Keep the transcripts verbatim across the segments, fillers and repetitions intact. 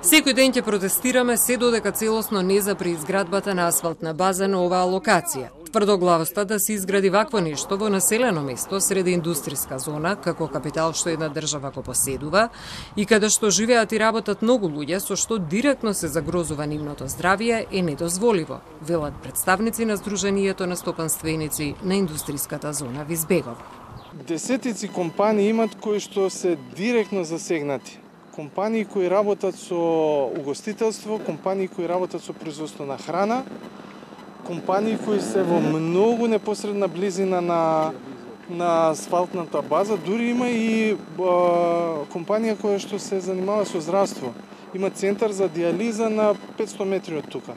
Секој ден ќе протестираме се додека целосно не запре изградбата на асфалтна база на оваа локација. Тврдоглавоста да се изгради вакво нешто во населено место среде индустријска зона, како капитал што една држава го поседува, и каде што живеат и работат многу луѓе со што директно се загрозува нивното здравје, е недозволиво, велат представници на Сдруженијето на стопанственици на индустријската зона Визбегово. Десетици компании имат кои што се директно засегнати. Компании кои работат со угостителство, компании кои работат со производство на храна, компании кои се во многу непосредна близина на на асфалтната база, дури има и а, компанија која што се занимава со здравство. Има центар за диализа на петсто метри од тука.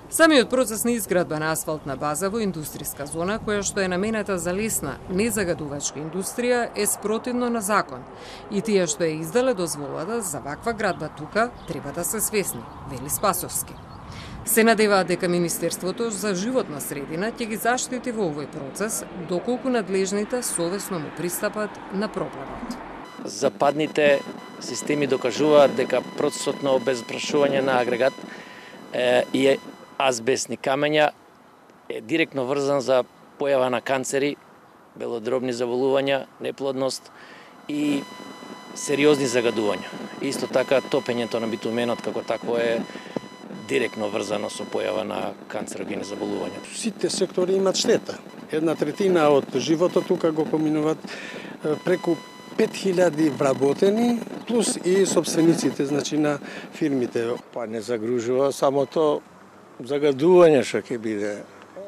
Самиот процес на изградба на асфалтна база во индустријска зона, која што е наменета за лесна, незагадувачка индустрија, е спротивно на закон. И тие што е издале дозволата за ваква градба тука, треба да се свесни, вели Спасовски. Се надеваат дека Министерството за животна средина ќе ги заштити во овој процес, доколку надлежните совесно му пристапат на проблемот. Западните системи докажуваат дека процесот на обезпрашување на агрегат е, и азбестни камења е директно врзан за појава на канцери, белодробни заболувања, неплодност и сериозни загадувања. Исто така топењето на битуменот како такво е директно врзано со појава на канцерогени заболувања. Сите сектори имат штета. Една третина од животот тука го поминуваат преку пет хиляди вработени, плюс и собствениците, значи на фирмите. Па не загружува самото загадување што ќе биде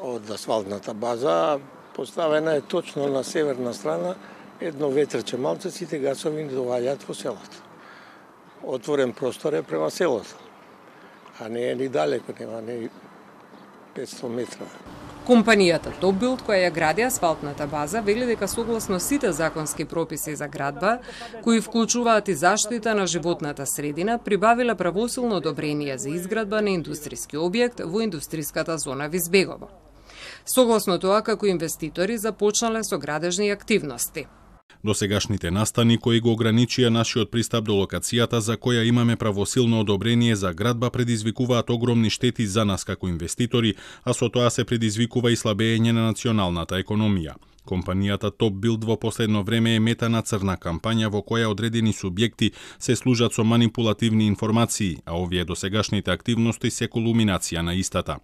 од асфалтната база. Поставена е точно на северна страна, едно ветрче малце, сите гасови доаѓаат во селото. Отворен простор е према селото, а не е ни далеко, нема не петсто метра. Компанијата Top Build, која ја гради асфалтната база, вели дека согласно сите законски прописи за градба, кои вклучуваат и заштита на животната средина, прибавила правосилно одобрение за изградба на индустријски објект во индустријската зона Визбегово. Согласно тоа, како инвеститори започнале со градежни активности. Досегашните настани кои го ограничија нашиот пристап до локацијата за која имаме правосилно одобрение за градба предизвикуваат огромни штети за нас како инвеститори, а со тоа се предизвикува и слабење на националната економија. Компанијата Top Build во последно време е мета на црна кампања во која одредени субјекти се служат со манипулативни информации, а овие досегашните активности се кулминација на истата.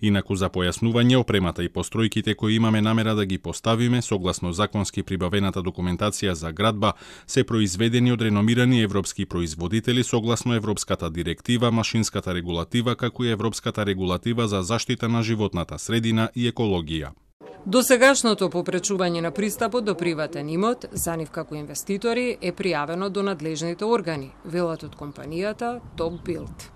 Инаку за појаснување, опремата и постројките кои имаме намера да ги поставиме, согласно законски прибавената документација за градба, се произведени од реномирани европски производители согласно Европската директива, машинската регулатива, како и Европската регулатива за заштита на животната средина и екологија. Досегашното попречување на пристапот до приватен имот за нив како инвеститори е пријавено до надлежните органи, велат од компанијата Top Build.